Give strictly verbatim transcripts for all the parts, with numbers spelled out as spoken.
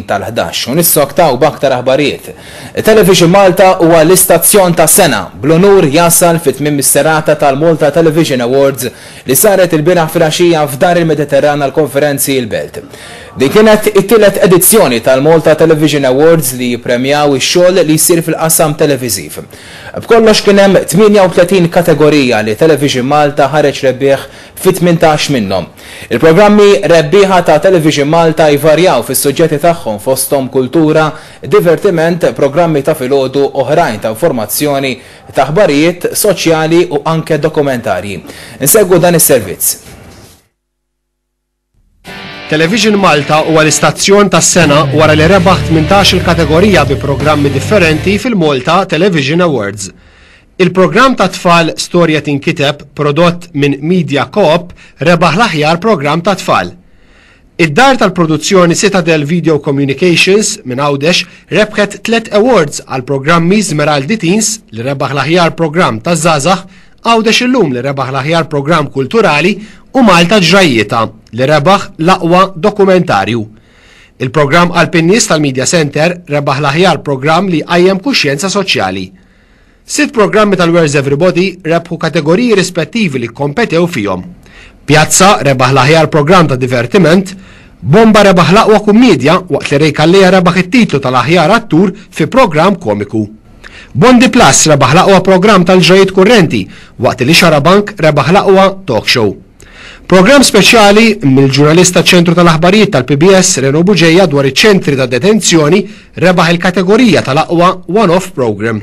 tal-ħdax u nissoktaw b'aktar aħbarijiet. Television Malta huwa l-istazzjon tas-sena bl-unur jasal fit tmiem is-serata tal-Malta Television Awards li saret il-bieraħ filgħaxija f'Dar il-Mediterran għall-Konferenzi il-Belt. Din kienet it-tielet edizzjoni tal-Malta Television Awards li jippremjaw ix-xogħol li jsir fil-qasam televiżiv. B'kollox kien hemm tmienja u tletin kategorija li Television Malta ħareġ rebbieħ fi tmintax minnhom. Il-programmi rebbieħa ta' Television Malta jvarjaw fis-suġġetti tagħhom fosthom kultura, divertiment, programmi ta' filgħodu, oħrajn ta' informazzjoni, ta' aħbarijiet, soċjali u anke dokumentarji. Insegwu dan is-servizz. Television Malta huwa l-istazzjon tas-sena wara li rebaħ tmintax il-kategorija bi programmi differenti fil-Malta Television Awards. Il-programm ta' tfal Storja Tinkiteb, prodott minn Media Coop, rebaħ l-aħjar programm ta' tfal. Id-dar tal-produzzjoni Citadel Video Communications minn Għawdex rebħet tliet awards għal programmi Smeraldi Teens li rebaħ l-aħjar programm ta' żgħażagħ, Għawdex Illum li rebaħ l-aħjar programm kulturali u Malta Ġrajjieta li rebaħ l-aqwa dokumentarju. Il-programm Alpinnis tal-Media Center rebaħ l-aħjar programm li qajjem kuxjenza soċjali. Sitt programmi tal-Where's Everybody rebħu kategoriji rispettivi li kompetew fihom. Pjazza rebaħ l-aħjar programm ta' divertiment, Bomba rebaħ l-aqwa kummedja waqt li Ray Calleja rebaħ it-titlu tal-aħjar attur fi programm komiku. Bondi Plus rebaħ l-aqwa programm tal-ġrajiet kurrenti waqt li Xarabank rebaħ l-aqwa talk show. Programm speċjali mill-ġurnalista ċentru tal-aħbarijiet tal-P B S Reno Bugeja dwar iċ-ċentri ta' detenzjoni rebaħ il-kategorija tal-aqwa one-off program.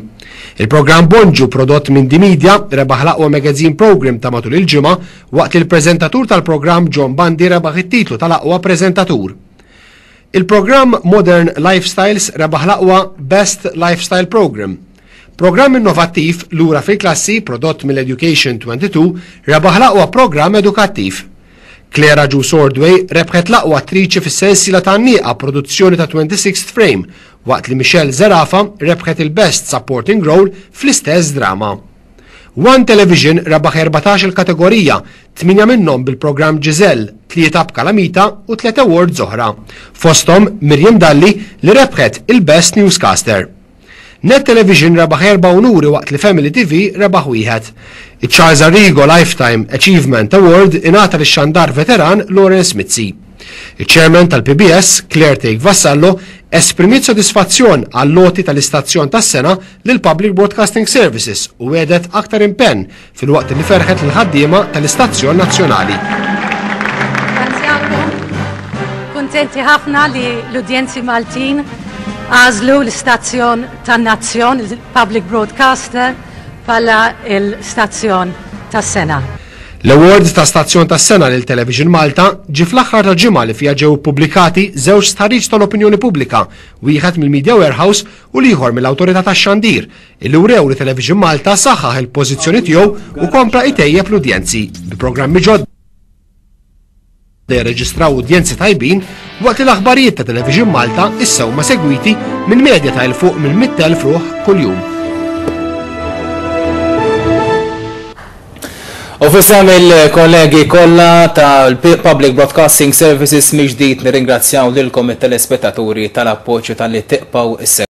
Il-programm Bonġu prodott minn Dimedia rebaħ l-aqwa magazine program ta' matul il-ġimgħa waqt li l-preżentatur tal-programm John Bundy rebaħ it-titlu tal-aqwa preżentatur. Il-programm Modern Lifestyles rebaħ l-aqwa Best Lifestyle Program. Programm innovattiv Lura fil-Klassi prodott mill-Education twenty-two rebaħ l-aqwa programm edukattiv. Claire Agius Ordway rebħet l-aqwa attriċi fis-sensiela ta' Nieqa produzzjoni ta' twenty-sixth Frame waqt li Michelle Zerafa rebħet il-Best Supporting Role fl-istess drama. One Television rebaħ erbatax il-kategorija, tmienja minnhom bil-programm Giselle, tlieta b'Kalamita u tliet awards oħra. Fosthom Miriam Dalli li rebħet il-Best Newscaster. Net Television rebaħ erba' unuri waqt li Family T V rebaħ wieħed. Iċ-Charles Arrigo Lifetime Achievement Award ingħata lix-xandar veteran Lawrence Mizzi. Il-Chairman tal-P B S, Claire Thake Vassallo, esprimiet sodisfazzjon għall-loti tal-istazzjon tas-sena lil Public Broadcasting Services u għedet aktar impenn fil-waqt li ferħet l-ħaddiema tal-istazzjon nazzjonali. Ringrazzjakom. Kuntenti ħafna li l-udjenzi Maltin għażlu l-istazzjon tan-nazzjon, il-Public Broadcaster, bħala l-istazzjon tas-sena. L-Awards ta' Stazzjon tas-Sena lil Television Malta ġie fl-aħħar tal-ġimgħa li fiha ġew ippubblikati żewġ stħarriġ tal-opinjoni pubblika, wieħed mill-Media Warehouse u l-ieħor mill-Awtorità tax-Xandir, illi wrew li Television Malta saħħaħ il-pożizzjoni tiegħu u kompla itejjeb l-udjenzi bi programmi ġodda jirreġistraw udjenzi tajbin waqt li l-aħbarijiet ta' Television Malta issa huma segwiti minn medja ta' 'l fuq minn mitt elf ruħ kuljum. U f'isem il-kollegi kollha tal-Public Broadcasting Services mill-ġdid nirringrazzjaw lilkom it-telespettaturi tal-appoġġ tal-li tibqgħu issegwu.